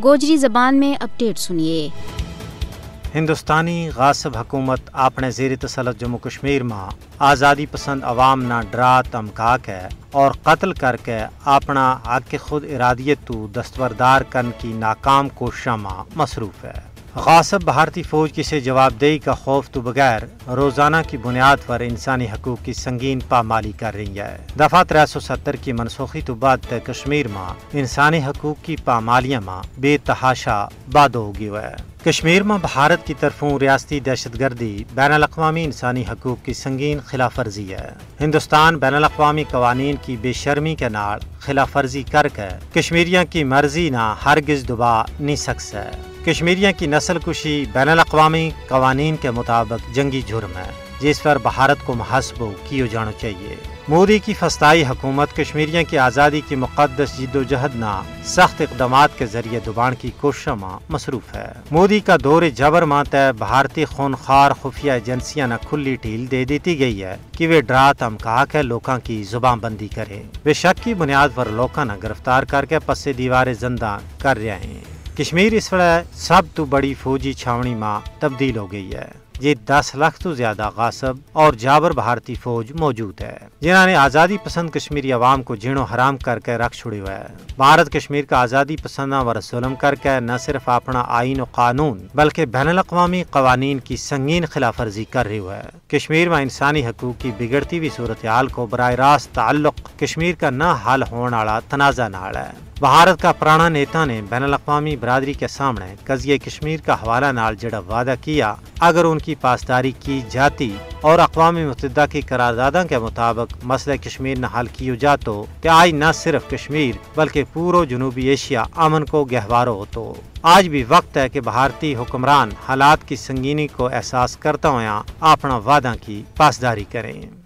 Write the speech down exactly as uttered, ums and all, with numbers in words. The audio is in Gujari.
گوجری زبان میں اپڈیٹ سنیے۔ ہندوستانی غاصب حکومت اپنے زیر تسلط جموں کشمیر ما آزادی پسند عوام نا ڈرا تمکا کے اور قتل کر کے اپنا حق خود ارادیت تو دستبردار کرن کی ناکام کوششاں ما مصروف ہے۔ غاصب بھارتی فوج کسے جواب دہی کا خوف تو بغیر روزانہ کی بنیاد پر انسانی حقوق کی سنگین پامالی کر رہی ہے۔ دفعہ ترے سو ستر کی منسوخی تو بعد تے کشمیر ما انسانی حقوق کی پامالیاں ما بے تحاشا بادو ہو گیو ہے۔ کشمیر ما بھارت کی طرفوں ریاستی دہشت گردی بین الاقوامی انسانی حقوق کی سنگین خلاف ورزی ہے۔ ہندوستان بین الاقوامی قوانین کی بے شرمی کے نال خلاف ورزی کر کے کشمیریاں کی مرضی نا ہرگز دبا نہیں سکسے۔ کشمیریاں کی نسل کشی بین الاقوامی قوانین کے مطابق جنگی جرم ہے، جس پر بھارت کو محاسبو کیو جانو چاہیے۔ مودی کی فسطائی حکومت کشمیریاں کی آزادی کی مقدس جدوجہد نا سخت اقدامات کے ذریعے دبان کی کوششاں ما مصروف ہے۔ مودی کا دور جبر ما تے بھارتی خونخوار خفیہ ایجنسیاں نا کھلی ڈھیل دے دیتی گئی ہے کہ ویہ ڈرا تمکا کے لوکاں کی زبان بندی کرے۔ ویہ شک کی بنیاد پر لوکاں نا گرفتار کر کے پسے دیوارے زندہ کر رہیا ہیں۔ کشمیر اس ویلے سب تو بڑی فوجی چھاونی ما تبدیل ہو گئی ہے۔ جی دس لکھ تو زیادہ غاصب اور جابر بھارتی فوج موجود ہے، جنہاں نے آزادی پسند کشمیری عوام کو جینو حرام کر کے رکھ چھڑیو ہے۔ بھارت کشمیر کا آزادی پسنداں ور ظلم کر کے نہ صرف اپنا آئین و قانون بلکہ بین الاقوامی قوانین کی سنگین خلاف ورزی کر رہیو ہے۔ کشمیر ما انسانی حقوق کی بگڑتی ہوئی صورتحال کو براہ راست تعلق کشمیر کا نہ حل ہون آڑا تنازعہ نال ہے۔ بھارت کا پرانا نیتا نے بین الاقوامی برادری کے سامنے قضیہ کشمیر کا حوالہ نال جڑا وعدہ کیا، اگر ان کی پاسداری کی جاتی اور اقوام متحدہ کی قرارداداں کے مطابق مسئلہ کشمیر نہ حل کیو جاتو کہ آج نہ صرف کشمیر بلکہ پورو جنوبی ایشیا امن کو گہوارو ہوتو۔ آج بھی وقت ہے کہ بھارتی حکمران حالات کی سنگینی کو احساس کرتا ہویا اپنا وعداں کی پاسداری کریں۔